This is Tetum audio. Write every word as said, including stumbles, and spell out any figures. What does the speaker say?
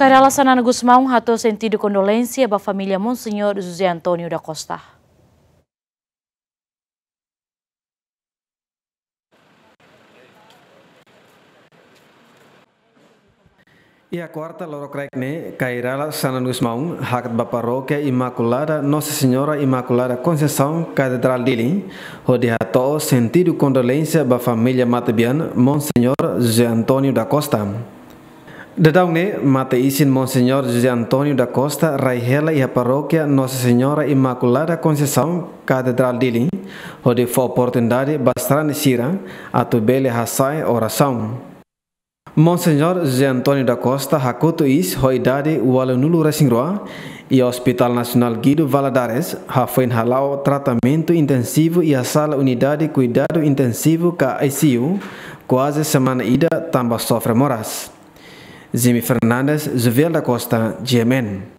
Kay Rala Xanana Gusmão hato'o sentidu kondolénsia ba família Monseñór José António da Costa. Iha kuarta loron kraik ne'e, Kay Rala Xanana Gusmão hakat ba Parókia Imakulada Nossa Senhora Imaculada Conceição, Katedrál Dili, hodi hato'o sentidu kondolénsia ba família matebian Monseñór José António da Costa. Daudaun ne'e, mate-isin Monseñór José António da Costa rai hela iha Parókia Nossa Senhora Imaculada Conceição, Katedrál Dili, hodi fó oportunidade ba sarani sira atu bele hasa'e orasaun. Monseñór José António da Costa hakotu iis ho idade ualunulu-resin-rua, iha Hospital Nasionál Guido Valadares, hafoin hala'o tratamentu intensivu iha sala unidade kuidadu intensivu ka I C U, kuaze semana ida tanba sofre moras. Jimmy Fernandes, Juviel da Costa, G M N.